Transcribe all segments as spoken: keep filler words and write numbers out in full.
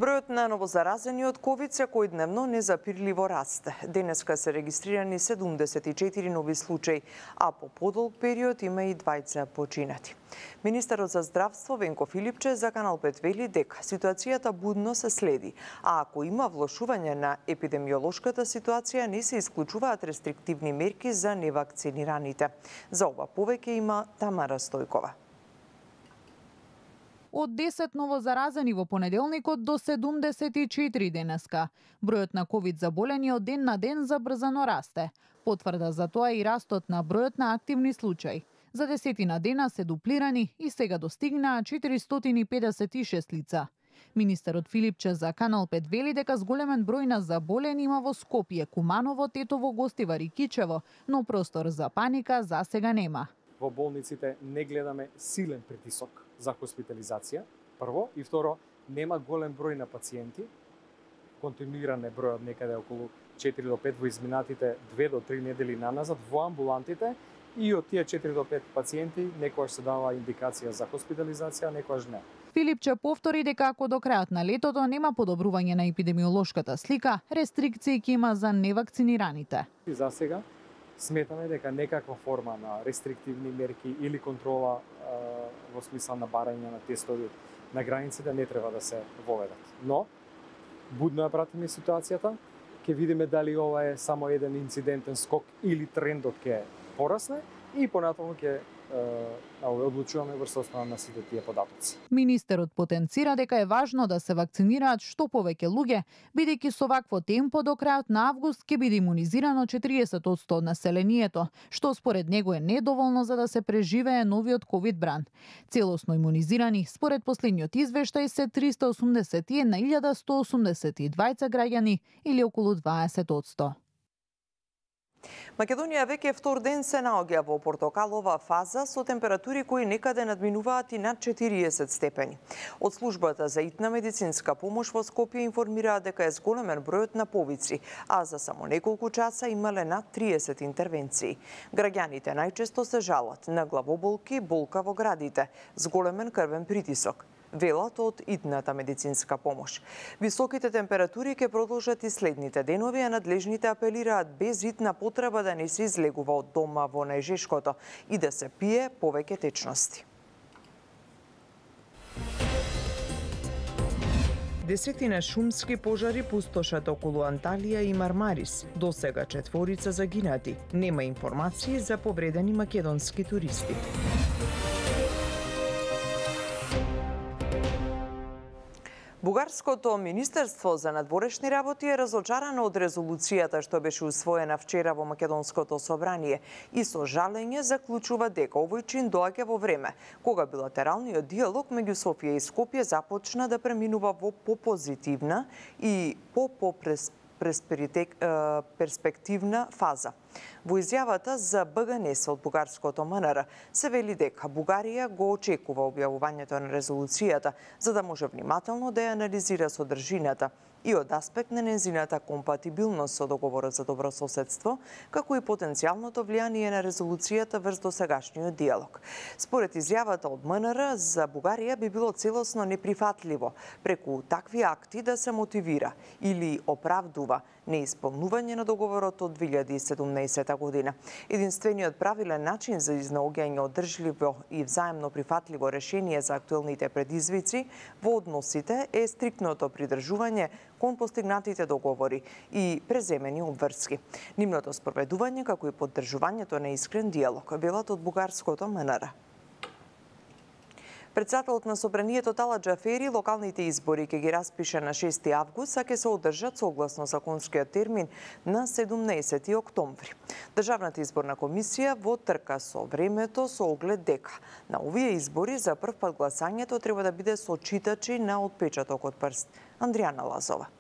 Бројот на новозаразени од ковид секојдневно незапирливо расте. Денеска се регистрирани седумдесет и четири нови случаи, а по подолг период има и двајца починати. Министерот за здравство Венко Филипче за Канал пет вели дека ситуацијата будно се следи, а ако има влошување на епидемиолошката ситуација, не се исклучуваат рестриктивни мерки за невакцинираните. За ова повеќе има Тамара Стојкова. Од десет новозаразени во понеделникот до седумдесет и четири денеска. Бројот на ковид заболени од ден на ден забрзано расте. Потврда за тоа и растот на бројот на активни случаи. За десетина дена се дуплирани и сега достигнаа четиристотини и педесет и шест лица. Министерот Филипче за Канал пет вели дека зголемен број на заболени има во Скопје, Куманово, Тетово, Гостивар и Кичево, но простор за паника за сега нема. Во болниците не гледаме силен притисок за хоспитализација, прво, и второ, нема голем број на пациенти, континуиран е бројот некаде околу четири до пет во изминатите две до три недели наназад во амбулантите, и од тие четири до пет пациенти некојаш се дава индикација за хоспитализација, некојаш не. Филипче повтори дека ако до крајот на летото нема подобрување на епидемиолошката слика, рестрикции ќе има за невакцинираните. И за сега сметаме дека некаква форма на рестриктивни мерки или контрола а, во смисла на барање на тестови на границите не треба да се воведат. Но, будно ја пратиме ситуацијата, ќе видиме дали ова е само еден инцидентен скок или трендот ќе порасне и понатаму ќе одлучуваме врз основа на сите тие податоци. Министерот потенцира дека е важно да се вакцинираат што повеќе луѓе, бидејќи со вакво темпо до крајот на август ќе биде имунизирано четириесет одсто од населението, што според него е недоволно за да се преживее новиот ковид бран. Целосно имунизирани, според последниот извештај, се триста осумдесет и една илјада сто осумдесет и двајца граѓани или околу дваесет одсто. Македонија веќе втор ден се наоѓа во портокалова фаза со температури кои некаде надминуваат и над четириесет степени. Од службата за итна медицинска помош во Скопје информираат дека е зголемен бројот на повици, а за само неколку часа имале над триесет интервенции. Граѓаните најчесто се жалат на главоболки, болка во градите, зголемен крвен притисок. Велат од итната медицинска помош. Високите температури ќе продолжат и следните денови, а надлежните апелираат без итна потреба да не се излегува од дома во најжешкото и да се пие повеќе течности. Десетина шумски пожари пустошат околу Анталија и Мармарис. До сега четворица загинати. Нема информации за повредени македонски туристи. Бугарското Министерство за надворешни работи е разочарано од резолуцијата што беше усвоена вчера во Македонското собрание и со жалење заклучува дека овој чин доаѓа во време кога билатералниот диалог меѓу Софија и Скопје започна да преминува во попозитивна и по-перспективна фаза. Во изјавата за БГНС од бугарското МНР се вели дека Бугарија го очекува објавувањето на резолуцијата за да може внимателно да ја анализира содржината и од аспект на незината компатибилност со договорот за добрососедство, како и потенцијалното влијание на резолуцијата врз досегашниот диалог. Според изјавата од МНР, за Бугарија би било целосно неприфатливо преку такви акти да се мотивира или оправдува неисполнување на договорот од две илјади и седумнаесета година. Единствениот правилен начин за изнаоѓање одржливо и взаемно прифатливо решение за актуелните предизвици во односите е стриктното придржување кон постигнатите договори и преземени обврски. Нивното спроведување како и поддржувањето на искрен диалог, велат од бугарското МНР. Председателот на Собранието Тала Џафери локалните избори ќе ги распише на шести август, а ќе се одржат согласно законскиот термин на седумнаесети октомври. Државната изборна комисија во трка со времето со оглед дека на овие избори за прв пат гласањето треба да биде со читачи на отпечаток од прст. Андријана Лазова.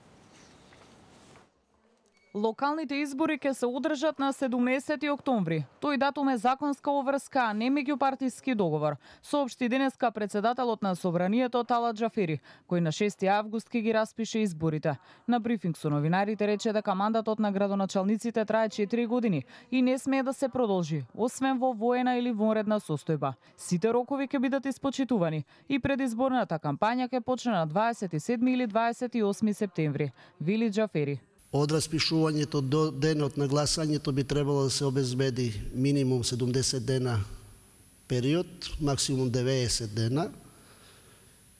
Локалните избори ќе се одржат на седумнаесети октомври. Тој датум е законска обврска, а не меѓупартиски договор, соопшти денеска председателот на Собранието Талат Џафери, кој на шести август ќе ги распише изборите. На брифинг со новинарите рече дека мандатот на градоначалниците трае четири години и не смее да се продолжи, освен во воена или вонредна состојба. Сите рокови ќе бидат испочитувани и предизборната кампања ќе почне на дваесет и седми или дваесет и осми септември, вели Џафери. Од распишувањето до денот на гласањето би требало да се обезбеди минимум седумдесет дена период, максимум деветдесет дена.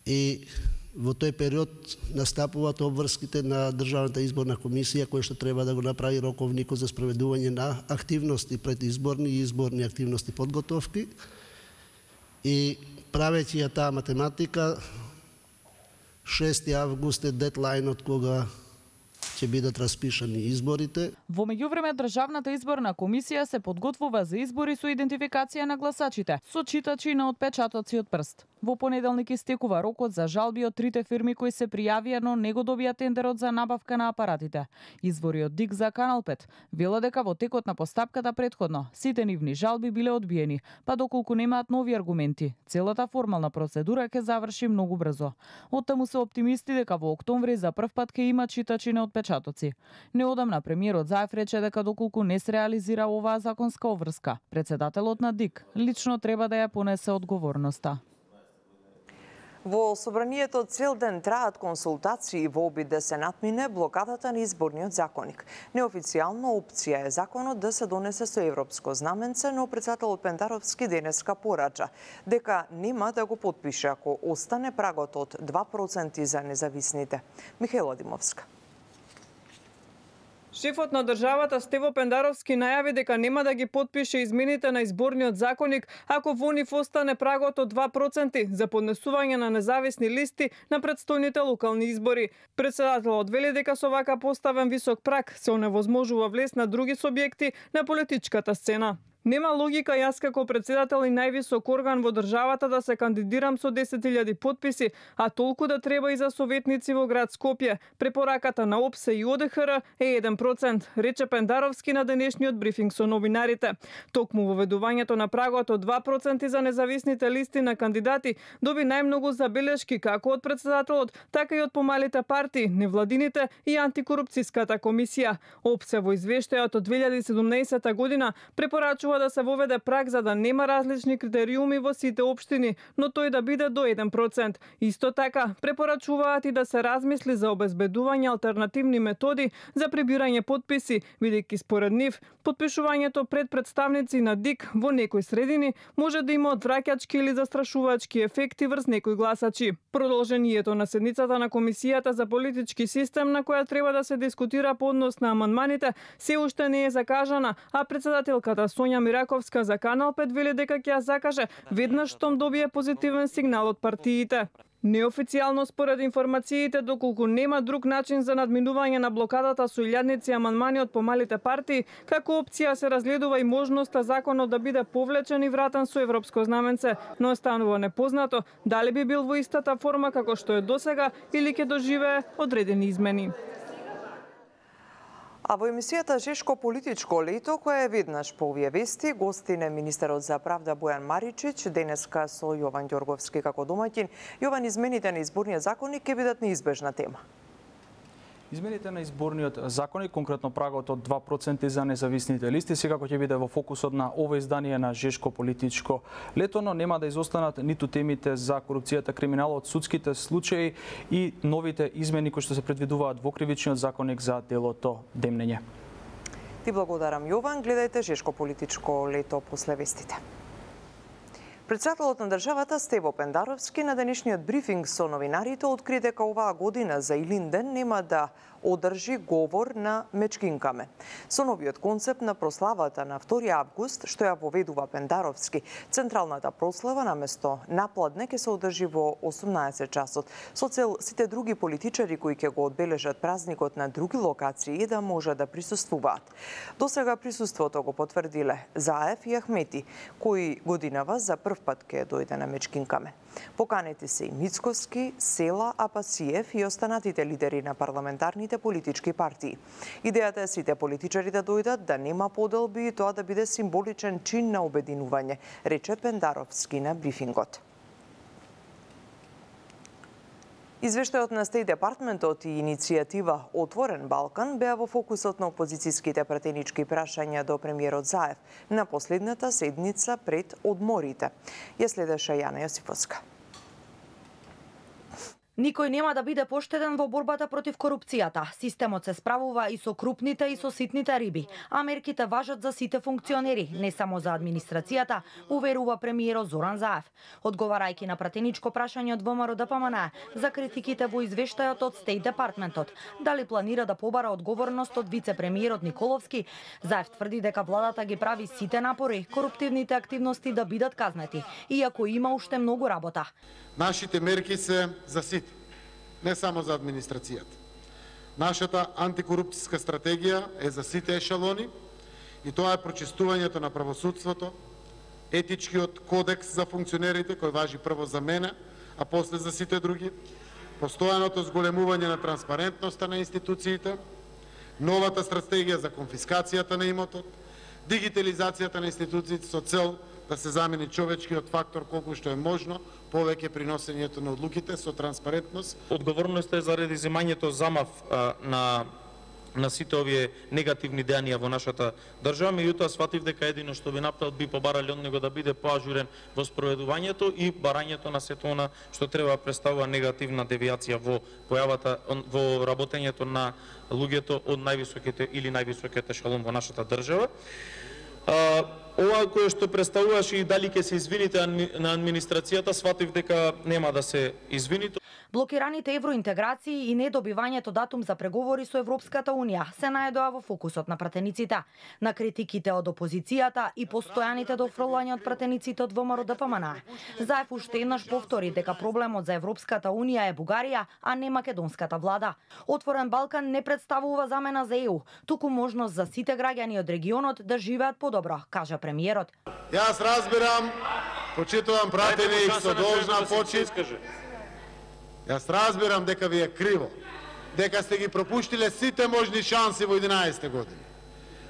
И во тој период настапуваат обврските на Државната изборна комисија, која што треба да го направи роковникот за спроведување на активности предизборни и изборни активности подготовки. И правејќи ја таа математика, шести август е дедлајнот кога ќе бидат распишани изборите. Во меѓувреме Државната изборна комисија се подготвува за избори со идентификација на гласачите, со читачи на отпечатоци од прст. Во понеделник истекува рокот за жалби од трите фирми кои се пријавија, но не го добија тендерот за набавка на апаратите. Извори од ДИК за Канал пет велат дека во текот на постапката претходно сите нивни жалби биле одбиени, па доколку немаат нови аргументи, целата формална процедура ќе заврши многу брзо. Оттаму се оптимисти дека во октомври за прв пат ќе има читачи на отпечатоци. Неодамна премиерот Заев рече дека доколку не се реализира оваа законска обврска, председателот на ДИК лично треба да ја понесе одговорноста. Во Собранието цел ден траат консултации во обид да се натмине блокадата на изборниот законник. Неофицијална опција е законот да се донесе со европско знаменце, но председателот Пендаровски денеска порача дека нема да го потпише ако остане прагот од два проценти за независните. Михаела Димовска. Шефот на државата Стево Пендаровски најави дека нема да ги потпише измените на изборниот законник ако во нив остане прагот од два проценти за поднесување на независни листи на претстојните локални избори. Председателот вели дека со вака поставен висок праг се оневозможува влез на други субјекти на политичката сцена. Нема логика јас како председател и највисок орган во државата да се кандидирам со десет илјади потписи, а толку да треба и за советници во град Скопје. Препораката на ОПСЕ и ОДХР е еден процент, рече Пендаровски на денешниот брифинг со новинарите. Токму воведувањето на прагот од два проценти за независните листи на кандидати доби најмногу забелешки како од председателот, така и од помалите партии, невладините и антикорупцијската комисија. ОПСЕ во извештајот од две илјади и седумнаесета година препорачува да се воведе праг за да нема различни критериуми во сите општини, но тој да биде до еден процент. Исто така, препорачуваат и да се размисли за обезбедување алтернативни методи за прибирање потписи, бидејќи според нив, потпишувањето пред представници на ДИК во некои средини може да има одвраќачки или застрашувачки ефекти врз некои гласачи. Продолжението на седницата на Комисијата за политички систем, на која треба да се дискутира по однос на амандманите, се уште не е закажана, а председателката Сонја Мираковска за Канал пет вели дека ќе ја закаже веднаш штом добие позитивен сигнал од партиите. Неофицијално според информациите, доколку нема друг начин за надминување на блокадата со илјадници амандмани од помалите партии, како опција се разгледува и можноста законот да биде повлечен и вратен со европско знаменце, но останува непознато дали би бил во истата форма како што е досега или ќе доживее одредени измени. А во емисијата Жешко политичко лето, која е веднаш по овие вести, гостин е министерот за правда Бојан Маричич, денеска со Јован Ѓорговски како домаќин. Јован, измените на изборниот законник ќе бидат неизбежна тема. Измените на изборниот законник, конкретно прагот од два проценти за независните листи, секако ќе биде во фокусот на ова издание на Жешко политичко лето, но нема да изостанат ниту темите за корупцијата, криминалот, судските случаи и новите измени кои што се предвидуваат во кривичниот законник за делото демнење. Ти благодарам, Јован. Гледајте Жешко политичко лето после вестите. Председателот на државата Стево Пендаровски на денешниот брифинг со новинарите откри дека оваа година за Илинден нема да одржи говор на Мечкинкаме. Со новиот концепт на прославата на втори август, што ја воведува Пендаровски, централната прослава наместо напладне ќе се одржи во осумнаесет часот, со цел сите други политичари кои ќе го одбележат празникот на други локации да може да присуствуваат. Досега присуството го потврдиле Заев и Ахмети, кои годинава за прв пат ќе дојде на Мечкинкаме. Поканети се и Мицковски, Села, Апасиев и останатите лидери на парламентарните големите политички партии. Идејата е сите политичари да дојдат, да нема поделби и тоа да биде символичен чин на обединување, рече Пендаровски на брифингот. Извештајот на Стејт Департментот и иницијатива Отворен Балкан беа во фокусот на опозицијските пратенички прашања до премиерот Заев на последната седница пред одморите. Ја следеше Јана Јосифовска. Никој нема да биде поштеден во борбата против корупцијата. Системот се справува и со крупните и со ситните риби. А мерките важат за сите функционери, не само за администрацијата, уверува премиерот Зоран Заев. Одговарајќи на пратеничко прашање од ВМРО Д П М Н за критиките во извештајот од Стејт Департментот, дали планира да побара одговорност од вице-премиерот Николовски, Заев тврди дека владата ги прави сите напори коруптивните активности да бидат казнети, иако има уште многу работа. Нашите мерки се за сите, не само за администрацијата. Нашата антикорупцијска стратегија е за сите ешелони и тоа е прочистувањето на правосудството, етичкиот кодекс за функционерите кој важи прво за мене, а после за сите други, постојаното зголемување на транспарентноста на институциите, новата стратегија за конфискацијата на имотот, дигитализацијата на институциите со цел да се замени човечкиот фактор колку што е можно, повеќе приносењето на одлуките со транспарентност. Одговорноста е заради земањето замав а, на на сите овие негативни дејанија во нашата држава, меѓутоа сватив дека едино што би направил би побарали од него да биде поажурен во спроведувањето и барањето на сето она што треба представува негативна девијација во појавата во работењето на луѓето од највисоките или највисоките ешелон во нашата држава. А, ова кое што представуваше и дали ќе се извините на администрацијата, сватив дека нема да се извини. Блокираните евроинтеграции и недобивањето датум за преговори со Европската Унија се најдоа во фокусот на пратениците. На критиките од опозицијата и постојаните дофрлања од пратениците од ВМРО Д П М Н. Заев уште еднаш повтори дека проблемот за Европската Унија е Бугарија, а не македонската влада. Отворен Балкан не представува замена за Е У, туку можност за сите граѓани од регионот да живеат подобро, кажа премиерот. Јас разбирам, почитувам пратеник со должна почит. Јас разбирам дека ви е криво, дека сте ги пропуштиле сите можни шанси во единаесетте години.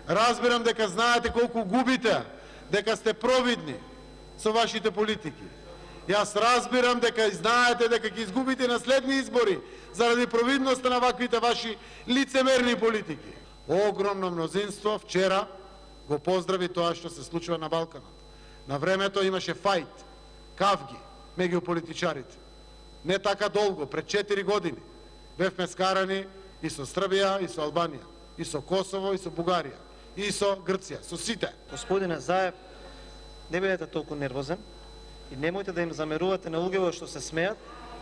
Разбирам дека знаете колку губите, дека сте провидни со вашите политики. Јас разбирам дека знаете дека ќе изгубите на следни избори заради провидноста на ваквите ваши лицемерни политики. Огромно мнозинство вчера го поздрави тоа што се случува на Балканот. На времето имаше фајт, кавги меѓу политичарите. Не така долго, пред четири години, бевме скарани и со Србија, и со Албанија, и со Косово, и со Бугарија, и со Грција, со сите. Господине Заев, не бидете толку нервозен и немојте да им замерувате на луѓето што се смеат,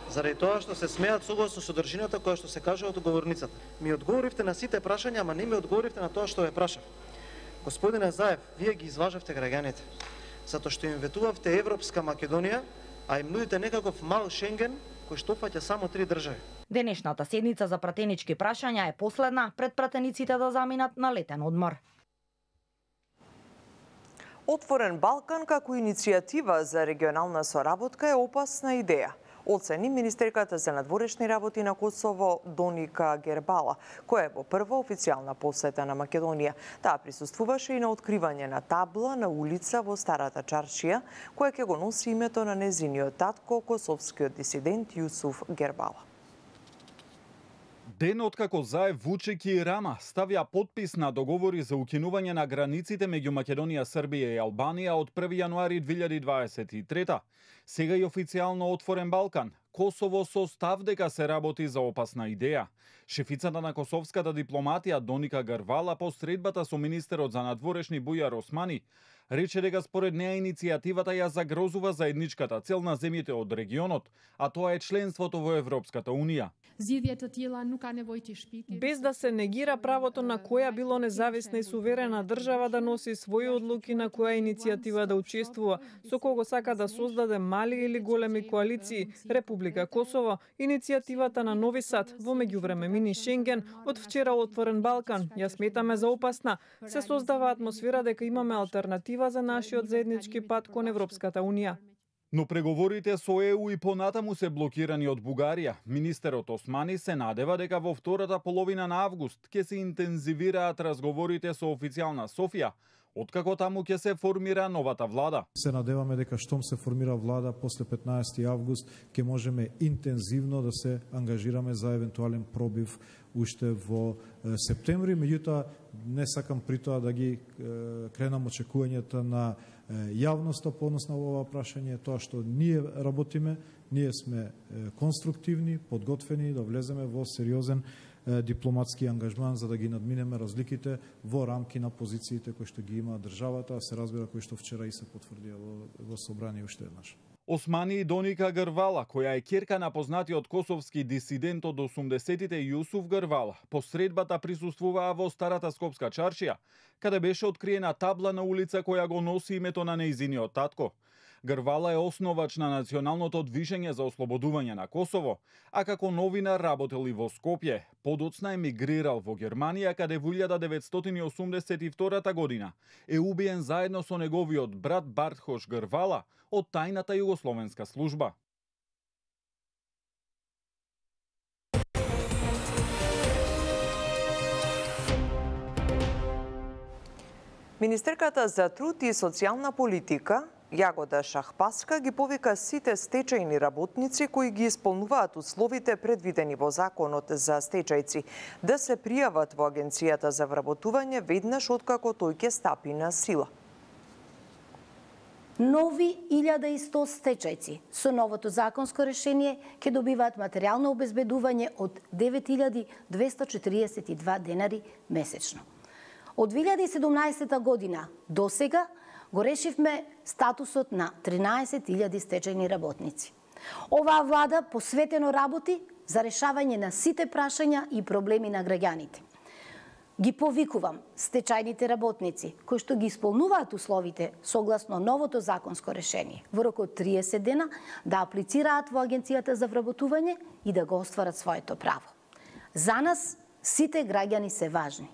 заради тоа што се смеат согласно содржината која што се кажува од говорницата. Ми одговоривте на сите прашања, ама не ми одговоривте на тоа што ве прашав. Господине Заев, вие ги изважавте граѓаните, затоа што им ветувавте Европска Македонија, а им нудите некаков мал Шенген кој што фаќа само три држави. Денешната седница за пратенички прашања е последна пред пратениците да заминат на летен одмор. Отворен Балкан како иницијатива за регионална соработка е опасна идеја, оцени министерката за надворешни работи на Косово Доника Гербала, која е во прва официјална посета на Македонија. Таа присуствуваше и на откривање на табла на улица во Старата Чаршија, која ќе го носи името на незиниот татко, косовскиот дисидент Јусуф Гербала. Ден откако Заев, Вучек и Рама ставија подпис на договори за укинување на границите меѓу Македонија, Србија и Албанија од први јануари две илјади дваесет и трета, сега и официјално Отворен Балкан, Косово со став дека се работи за опасна идеја. Шефицата на косовската дипломатија Доника Гербала по средбата со министерот за надворешни Бујар Османи рече дека според неа иницијативата ја загрозува заедничката цел на земјите од регионот, а тоа е членството во Европската Унија. Без да се негира правото на која било независна и суверена држава да носи своји одлуки на која иницијатива да учествува, со кого сака да создаде мали или големи коалиции, Република Косово, иницијативата на Нови Сад, во меѓувреме мини Шенген, од вчера Отворен Балкан, ја сметаме за опасна. Се создава атмосфера дека имаме алтернатива за нашиот заеднички пат кон Европската Унија. Но преговорите со Е У и понатаму се блокирани од Бугарија. Министерот Османи се надева дека во втората половина на август ќе се интензивираат разговорите со официјална Софија, откако таму ќе се формира новата влада. Се надеваме дека штом се формира влада после петнаесети август ќе можеме интензивно да се ангажираме за евентуален пробив уште во септември, меѓутоа не сакам при тоа да ги кренам очекувањата на јавноста по однос на ова прашање. Тоа што ние работиме, ние сме конструктивни, подготвени да влеземе во сериозен дипломатски ангажман за да ги надминеме разликите во рамки на позициите кои што ги има државата, а се разбира кои што вчера и се потврдија во, во собрание уште еднаш. Османи Доника Грвала, која е ќерка на познатиот косовски дисидент од осумдесетите Јусуф Грвала, по средбата присуствуваа во Старата Скопска чаршија, каде беше откриена табла на улица која го носи името на нејзиниот татко. Грвала е основач на Националното движење за ослободување на Косово, а како новинар работел и во Скопје. Подоцна емигрирал во Германија, каде во илјада деветстотини и осумдесет и втора година е убиен заедно со неговиот брат Бартхош Грвала од тајната југословенска служба. Министерката за труд и социјална политика Јагода Шахпаска ги повика сите стечајни работници кои ги исполнуваат условите предвидени во Законот за стечајци да се пријават во Агенцијата за вработување веднаш откако тој ќе стапи на сила. Нови илјада и сто стечајци со новото законско решение ќе добиваат материјално обезбедување од девет илјади двесте четиридесет и два денари месечно. Од две илјади и седумнаесета година до сега го решивме статусот на тринаесет илјади стечајни работници. Оваа влада посветено работи за решавање на сите прашања и проблеми на граѓаните. Ги повикувам стечајните работници кои што ги исполнуваат условите согласно новото законско решение во рок од триесет дена да аплицираат во Агенцијата за вработување и да го остварат своето право. За нас сите граѓани се важни.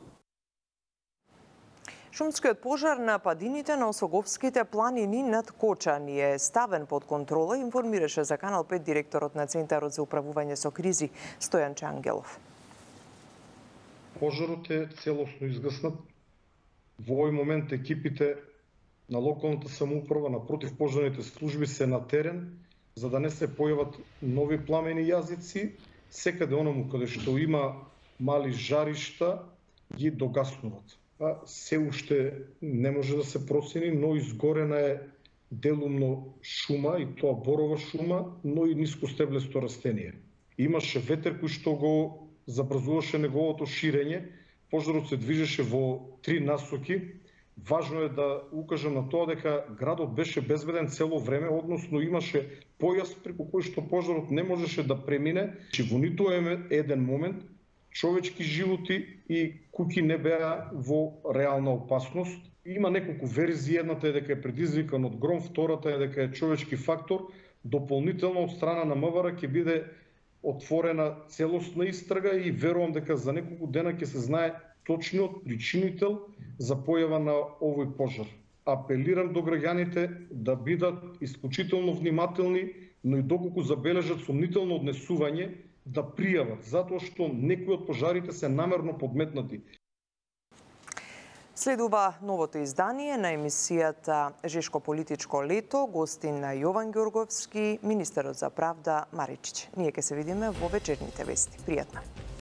Шумскиот пожар на падините на Осоговските планини над Кочани е ставен под контрола, информираше за Канал пет директорот на Центарот за управување со кризи Стојан Чангелов. Пожарот е целосно изгаснат. Во овој момент екипите на локалната самоуправа, на противпожарните служби се на терен, за да не се појават нови пламени јазици. Секаде онаму каде што има мали жаришта, ги догаснуваат. А се уште не може да се процени, но изгорена е делумно шума, и тоа борова шума, но и нискостеблесто растение. Имаше ветер кој што го забрзуваше неговото ширење. Пожарот се движеше во три насоки. Важно е да укажам на тоа дека градот беше безбеден цело време, односно имаше појас преку кој што пожарот не можеше да премине. Во ниту еден момент човечки животи и куќи не беа во реална опасност. Има неколку верзии, едната е дека е предизвикан од гром, втората е дека е човечки фактор. Дополнително од страна на МВР ќе биде отворена целосна истрага и верувам дека за неколку дена ќе се знае точниот причинител за појава на овој пожар. Апелирам до граѓаните да бидат исклучително внимателни, но и доколку забележат сомнително однесување, да пријават, затоа што некои од пожарите се намерно подметнати. Следува новото издание на емисијата Жешко политичко лето, гостин на Јован Ѓорговски, министерот за правда Маричич. Ние ќе се видиме во вечерните вести. Пријатно.